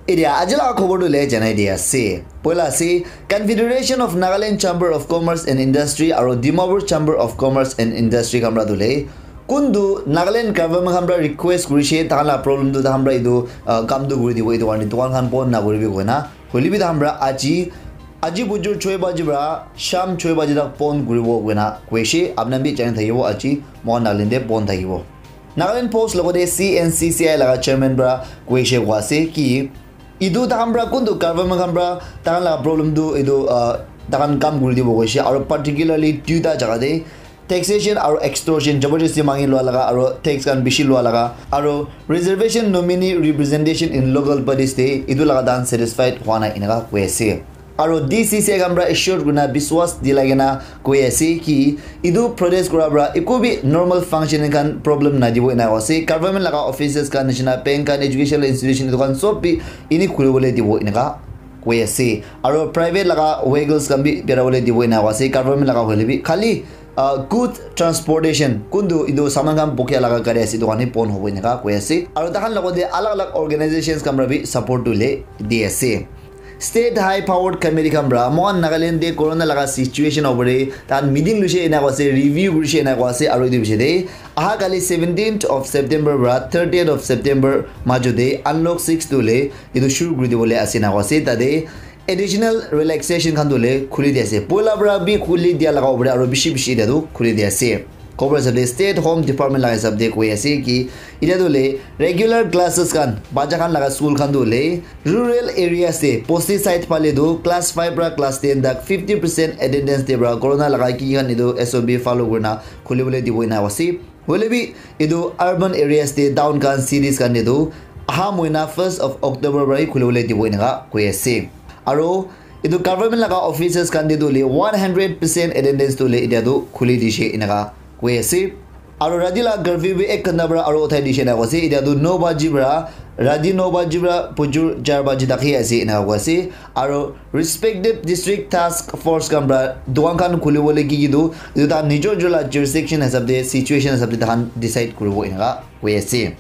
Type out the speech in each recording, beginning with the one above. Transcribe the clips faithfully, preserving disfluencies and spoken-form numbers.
Etia aji laga khobor tu le janai di ase. Poila ase, Confederation of Nagaland Chamber of Commerce and Industry aro Dimapur Chamber of Commerce and Industry khan pra tu le kuntu Nagaland government khan pra request kurishe, tahan la problem tu tahan pra etu, ah, kam tu kuri dibo, etu karne dukan khan bon na kuribi koina. Hoile bi tahan pra aji, aji bujur choi baji pra sham choi baji tak bon kuribo koina koishe. Apna bi jani thakibo aji mohan Nagaland te bon thakibo. Nagaland Post logote C N C C I laga chairman pra koishe koa ase ki etu tahan pra kuntu government khan pra tahan la problem tu etu, ah, tahan kam kuri dibo koishe, aro particularly duita jaga te taxation aro extortion, jabardasti mangi lua laga aro tax khan bishi lua laga aro reservation nominee representation in local bodies te etu laga tahan satisfied hua nai eneka koi ase. Aro D C C I khan pra assure kurina biswas dilai kena koi ase ki etu protest kura pra eku bi normal function khan problem nadibo ena koi ase. Government laga offices khan nishina bank khan, educational institution etu khan sob bi ini khulibole dibo eneka koi ase. Aro private laga vehicles khan bi birai bole dibo ena koi ase. Government laga hoile bi khali, ah, good transportation kuntu etu saman khan bokia laga gari ase etu khan hi bon hobo eneka koi ase. Aro tahan logote alag alag organizations khan pra bi support tu le di ase. State High Powered Committee khan pra mohan Nagaland te corona laga situation opor te tahan meeting luishe ena koi ase, review kurishe ena koi ase, aro etu bishi te aha kali seventeenth of September pra thirtieth of September majo te unlock six tu le etu shuru kuri dibole ase ena koi ase. Tate additional relaxation khan tu le khuli di ase, poila pra bi khuli dia laga opor te aro bishi bishi etia tu khuli di ase. Khobor hisab te State Home Department laga hisab te koi ase ki etia tu le regular classes khan bacha khan laga school khan tu le rural areas te bosti side phale tu class five pra class ten tak fifty percent attendance te pra corona laga ki khan etu S O P follow kurina khulibole dibo ena ase. Hoile bi etu urban areas te town khan cities khan te tu aha mohina first of October pra hi khulibole dibo eneka koi ase. Aro etu government laga offices khan te tu le one hundred percent attendance tu le etia tu khuli dishe eneka koi ase. Aro rati la curfew bi ek ghanta pra aro uthai dishe eneka koi ase. Etia tu no baji pra, rati no baji pra bujur char baji tak hi ase eneka koi ase. Aro respective district task force khan pra dukan khan khulibole ki ki tu etu tahan nijor nijor la jurisdiction hisab te, situation hisab te tahan decide kuribo eneka koi ase.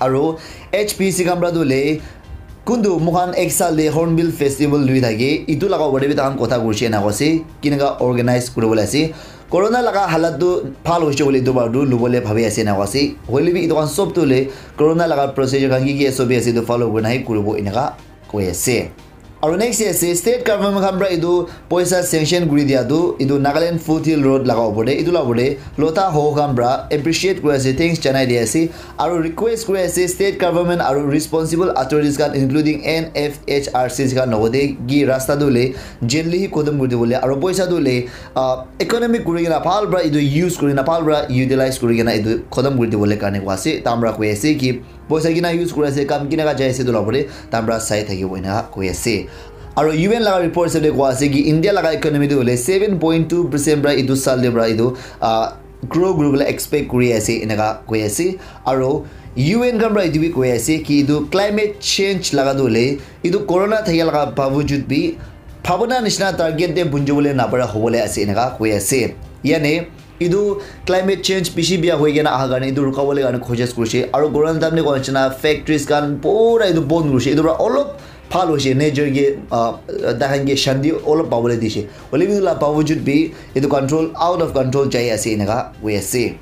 Aro H P C khan pra tu le kuntu moikhan ek saal te Hornbill Festival lui thake, etu laga opor te bi tahan kotha kurishe ena koi ase, kineka organize kuribole ase. Corona laga halat tu bhal hoishe koile etu bar tu lubole bhabi ase ena koi ase. Hoile bi etu khan sob tu le corona laga procedure khan ki ki S O P ase etu follow kurina hi kuribo eneka koi ase. Aro next te ase state government khan pra etu poisa sanction kuri dia tu etu Nagaland Foothill Road laga opor te, etu la opor te Lotha Ho khan pra appreciate kuri ase, thanks janai di ase. Aro request kuri ase state government aro responsible authorities khan including N F H R C khan logote ki rasta tu le jaldi hi khotom kuri dibole aro poisa tu le, ah, economic kuri kena bhal pra etu use kuri kena bhal pra utilize kuri kena etu khotom kuri dibole karne koi ase. Tahan pra koi ase ki poisa kina use kuri ase, kam kineka jai ase etu la opor te tahan pra sai thakibo eneka koi ase. Aro U N laga report hisab te koi ase ki India laga economy tu hoile seven point two percent pra etu saal te pra etu, ah, grow kuribole expect kuri ase eneka koi ase. Aro U N khan pra etu bi koi ase ki etu climate change laga tu hoile etu corona thakia laga bawajud bi bhabona nishina target te punjibole napara hobole ase eneka koi ase. Yane etu climate change bishi bia hoi kena aha karne etu rukabole karne koshish kurishe. Aro corona time te koa nishina factories khan pura etu bon kurishe. Etu pra olop bhal hoishe, nature ke, ah, taikhan ke shanti olop pabole dishe. Hoile bi etu la bawajud bi etu control, out of control jai ase eneka koi ase.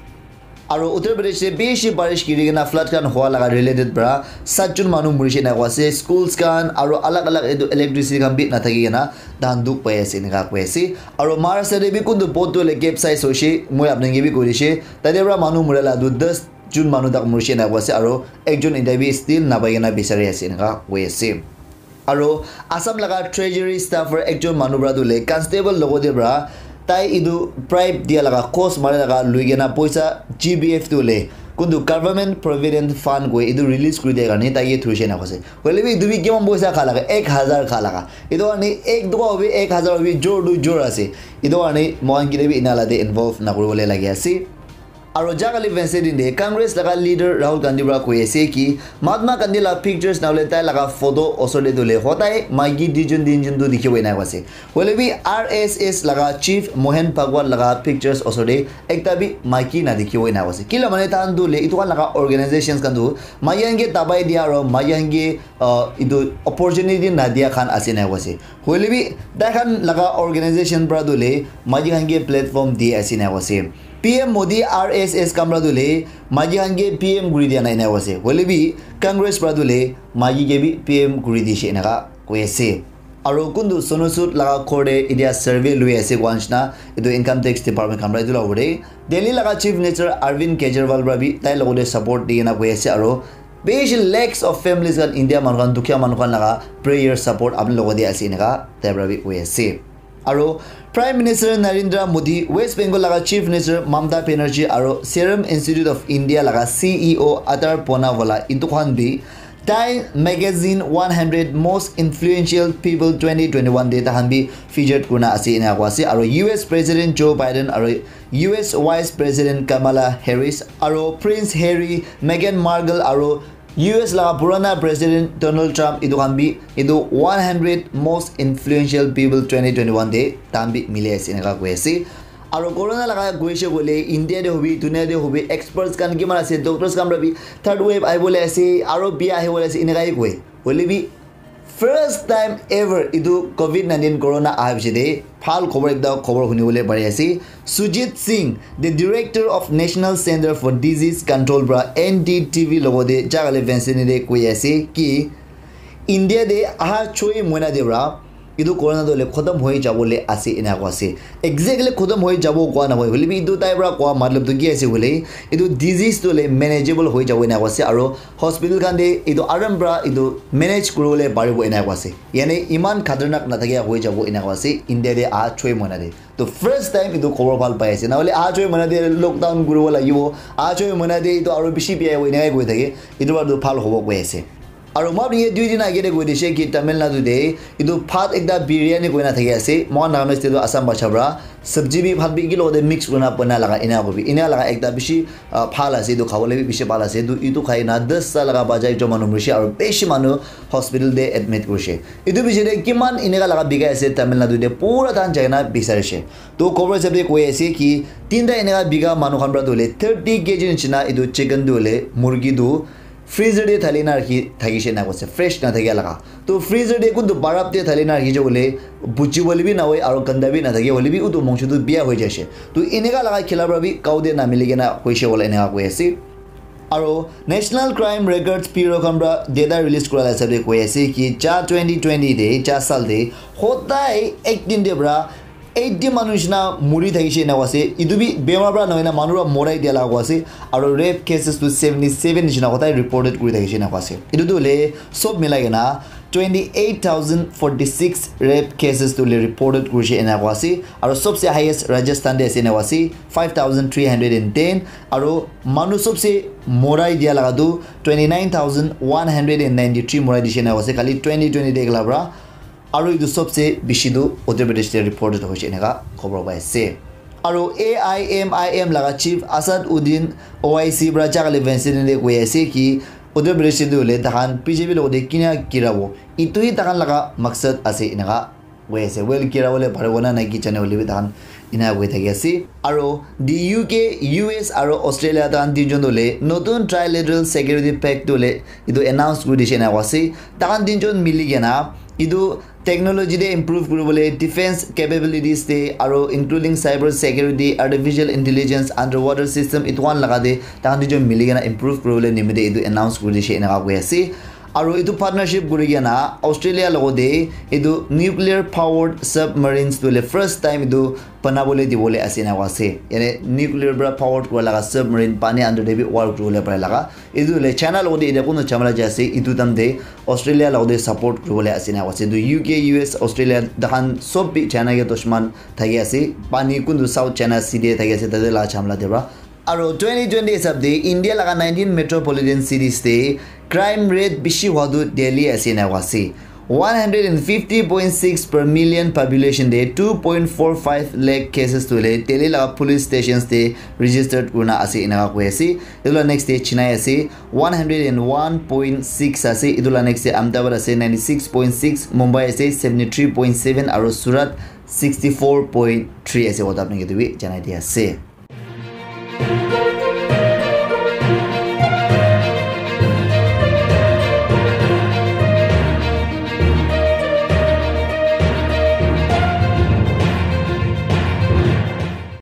Aro Uttar Pradesh te bishi barish giri kena flood khan hua laga related pra sat jon manu murishe eneka koi ase. Schools khan aro alag alag etu electricity khan bi nathaki kena tahan dukh pai ase eneka koi ase. Aro Maharashtra te bi kuntu boat tu hoile capsize hoishe, moi apni ke bi koi dishe. Tate pra manu mura la tu das jon manu tak murishe eneka koi ase, aro ekjon etia bi still napai kena bisari ase eneka koi ase. Aro Assam laga treasury staffer ekjon manu pra tu hoile constable logote pra tai etu bribe dia laga, cost mari laga lui kena poisa G B F tu hoile kuntu government provident fund koi etu release kuri dia karne tai ke thurishe eneka koi ase. Hoile bi etu bi kiman poisa kha laga, ek hazar kha laga. Etu karne ek toka hobi, ek hazar hobi, jor tu jor ase. Etu karne moikhan kile bi ena la te involve na kuribole lagi ase. Aro jakali Wednesday din de Congress laga leader Rahul Gandhi para koi ase ki Mahatma Gandhi la pictures na hole tai laga photo osor de dule hotai maiki duijon tinjon tu dikhibo ena koi ase. Hoile bi R S S laga chief Mohan Bhagwat laga pictures osor de ekta bi maiki na dikhibo ena koi ase. Kila mane tahan tu le itu khan laga organizations khan tu maiki khan ke dabai dia aro maiki khan ke uh, itu opportunity na dia khan ase ena koi ase. Hoile bi tai khan laga organization para tu le maiki khan ke platform di ase ena koi ase. P M Modi R S S khan para tu le maiki khan ke P M kuri dia nai ena koi ase. Hoile bi Congress para tu le maiki ke bi P M kuri dishe enaka koi ase. Aro kuntu Sonu Sood laga ghor de itia survey lui ase koa nishina etu income tax department khan para etu la opor de Delhi laga chief minister Arvind Kejriwal para bi tai logote support di kena koi ase aro bishi lakhs of families khan India manu khan dukhiya manu khan laga prayer support apni logote ase enaka tai para bi koi ase. Aro Prime Minister Narendra Modi, West Bengal laga Chief Minister Mamata Banerjee aro Serum Institute of India laga C E O Aadar Poonawalla itu khan bi Time Magazine one hundred Most Influential People twenty twenty-one de tahan bi featured kurna ase ena koi ase aro U S President Joe Biden aro U S Vice President Kamala Harris aro Prince Harry, Meghan Markle aro U S laga purana President Donald Trump itu khan bi itu one hundred Most Influential People twenty twenty-one de tahan bi mili ase enaka koi ase. Aro corona laga koise koile India de hobi, dunia de hobi, experts khan kiman ase, doctors khan para bi third wave ahi bole ase, aro bia ahi bole ase enaka hi koi. Hoile bi first time ever itu covid nineteen corona aha piche de bhal khobor ekta khobor huni bole pari ase. Sujit Singh, the director of National Center for Disease Control para N D T V logote jakale Wednesday de koi ase ki India de aha choi moina de para itu corona tu le khotom hoi jabo le ase ena koi ase. Exactly khotom hoi jabo koa na hoi. Hoile bi itu tai para koa matlab tu ki ase hoile itu disease tu le manageable hoi jabo ena koi ase aro hospital khan de itu aram para itu manage kuri bole paribo ena koi ase. Yane iman khatarnak na thakia hoi jabo ena koi ase India de aha choi moina de. To first time itu khobor bhal pai ase. Na hole aha choi moina de lockdown kuri bo lagibo. Aha choi moina de itu aro bishi bia hobo ena koi thake. Itu para tu bhal hobo koi ase. Aro moi apni ke dui din age de koi dishe ki Tamil Nadu de itu bhat ekta biryani koina thaki ase. Moi Nagamese te tu Assam bhasha para sabji bi bhat bi ki logote mix kurina bana laga ena kobi. Ena laga ekta bishi ah, bhal ase, itu khabole bi bishi bhal ase. Itu, itu khai na das ta laga baja ekjon manu murishe aro bishi manu hospital te admit kurishe. Itu bishi de kiman eneka laga bikai ase Tamil Nadu te pura tahan jai na bisarishe. To khobor hisab te koi ase ki tinta eneka bika manu khan para tu hole thirty K G nishina itu chicken tu hole murgi tu freezer te thali na rakhi thakishe na koise, fresh na thakia laga. To freezer te kuntu barap te thali na rakhi jabole buji bole bi na hoi aro ganda bi na thake hole bi utu mongso tu bia hoi jaise. To eneka laga khila para bi kau te na mili kena hoise bole eneka koi ase. Aro National Crime Records Bureau khan para data release kura la hisab te koi ase ki ja twenty twenty te, ja sal te hodai ek din te para eighty manu nishina muri thakishe ena koi ase. Itu bi bemar para nohoi na manu para morai dia laga koi ase. Aro rape cases tu seventy seven nishina hodai reported kuri thakishe ena koi ase. Itu tu hole sob milai kena twenty eight thousand forty six rape cases tu hole reported kurishe ena koi ase. Aro sobse highest Rajasthan te ase ena koi ase, five thousand three hundred and ten. Aro manu sobse morai dia laga tu twenty nine thousand one hundred and ninety three morai dishe ena koi ase khali twenty twenty te ekla para. Aro itu sobse bishi tu Uttar Pradesh te reported hoise eneka khobor pai ase. Aro A I M I M laga chief Asad Uddin O I C para jakale Wednesday te koi ase ki Uttar Pradesh te tu hole tahan B J P logote kina kirabo. Itu hi tahan laga maksad ase eneka koi ase. Well, kira bole paribo na nai ki jane hole bi tahan ena koi thaki ase. Aro the U K, U S aro Australia tahan tinjon tu hole notun trilateral security pact tu hole itu announce kuri dishe ena koi ase. Tahan tinjon mili kena itu technology te improve kuri bole, defense capabilities te aro including cyber security, artificial intelligence, underwater system itu khan laga te tahan tinjon mili kena improve kuri bole nimite itu announce kuri dishe eneka koi ase. Aro itu partnership kuri kena Australia logote itu nuclear powered submarines tu hole first time itu banabole dibole ase ena koi ase. Yane nuclear para powered kura laga submarine pani under te bi work kuribole pare laga. Itu hole China logote itia kunu jhamela jai ase, itu time te Australia logote support kuribole ase ena koi ase. Itu U K, U S, Australia tahan sob bi China ke dushman thaki ase. Pani kuntu South China Sea te thaki ase, tate laga jhamela te para. Aro twenty twenty hisab te India laga nineteen metropolitan cities te crime rate bishi hua tu Delhi ase ena koi ase. One hundred and fifty point six per million population te two point four five lakh cases tu le Delhi laga police stations te registered kurina ase, enaka koi ase. Etu la next te Chennai ase, one hundred and one point six ase. Etu la next te Ahmedabad ase, ninety six point six, Mumbai ase, seventy three point seven, aru Surat sixty four point three ase. Kotha apni ke tu bi janai dia ase.